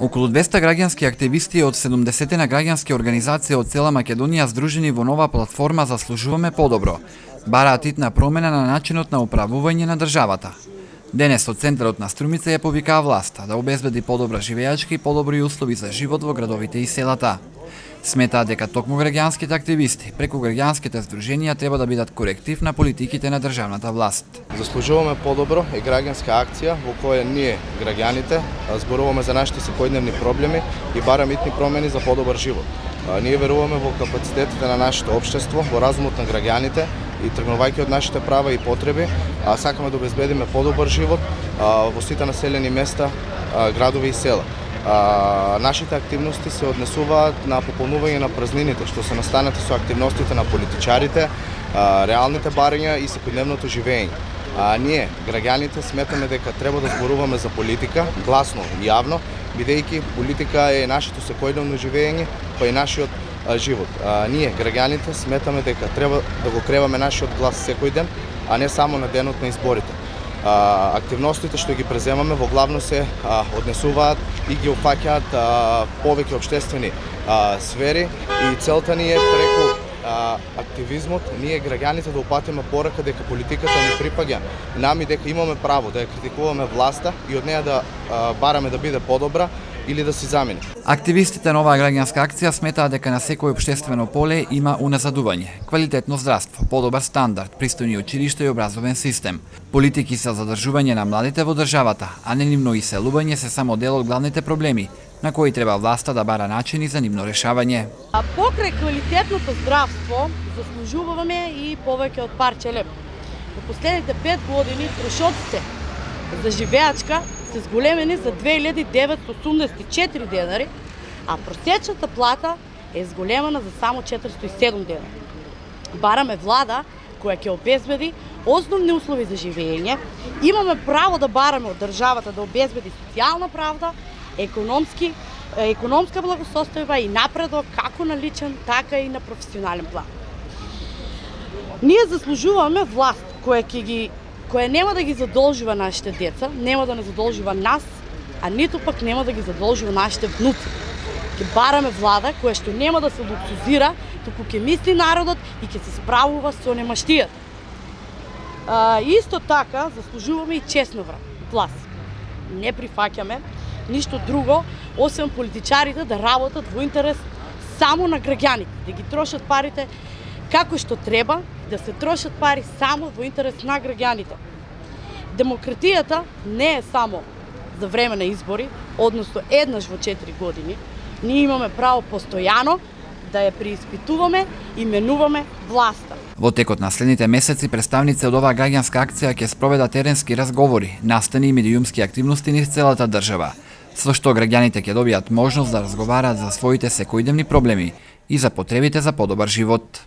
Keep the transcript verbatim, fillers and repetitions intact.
Околу двеста граѓански активисти од седумдесетина граѓански организации од цела Македонија здружени во нова платформа Заслужуваме подобро, бараат итна промена на начинот на управување на државата. Денес од центарот на Струмица ја повикаа власта да обезбеди подобра живеачка и подобри услови за живот во градовите и селата. Сметаат дека токму граѓанските активисти преку граѓанските здруженија треба да бидат коректив на политиките на државната власт. Заслужуваме подобро е граѓанска акција во која ние, граѓаните, зборуваме за нашите секојдневни проблеми и бараме итни промени за подобар живот. Ние веруваме во капацитетите на нашето општество, во разумот на граѓаните и тргнувајќи од нашите права и потреби, сакаме да обезбедиме подобар живот во сите населени места, градови и села. А, нашите активности се однесуваат на пополнување на празнините што се настанати со активностите на политичарите, а, реалните барања и секојдневното живење. А ние, граѓаните, сметаме дека треба да зборуваме за политика, гласно и јавно, бидејќи политика е нашето секојдневно живење, па и нашиот а, живот. А, ние, граѓаните, сметаме дека треба да го креваме нашиот глас секој ден, а не само на денот на изборите. А, активностите што ги преземаме во главно се а, однесуваат и ги опфаќаат повеќе општествени а, сфери и целта ни е преку а, активизмот ние граѓаните да упатиме порака дека политиката ни припаѓа нами, дека имаме право да ја критикуваме власта и од неја да а, бараме да биде подобра или да си замени. Активистите на оваа граѓанска акција сметаат дека на секој општествено поле има уназадување, квалитетно здравство, подобар стандард, пристојни училишта и образовен систем. Политики за задржување на младите во државата, а не нивно иселување се само дел од главните проблеми, на кои треба власта да бара начини за нивно решавање. А покрај квалитетното здравство заслужуваме и повеќе од парче леп. Во последните пет години трошоците за живеачка се зголемени за две илјади деветстотини осумдесет и четири денари, а просечната плата е зголемена за само четиристотини и седум денари. Бараме влада која ќе обезбеди основни услови за живење, имаме право да бараме од државата да обезбеди социјална правда, економски, економска благосостојба и напредок како на личен, така и на професионален план. Ние заслужуваме власт која ќе ги која нема да ги задолжува нашите деца, нема да не задолжува нас, а ниту пак нема да ги задолжува нашите внуци. Ќе бараме влада која што нема да се луксузира, туку ќе мисли народот и ќе се справува со немаштијата. А, исто така заслужуваме и честна власт. Не прифаќаме ништо друго, освен политичарите да работат во интерес само на граѓаните, да ги трошат парите како што треба, да се трошат пари само во интерес на граѓаните. Демократијата не е само за време на избори, односно еднаш во четири години. Ние имаме право постојано да ја преиспитуваме и менуваме власта. Во текот на следните месеци представници од оваа граѓанска акција ќе спроведат теренски разговори, настани и медиумски активности низ целата држава, со што граѓаните ќе добијат можност да разговараат за своите секојдневни проблеми и за потребите за подобар живот.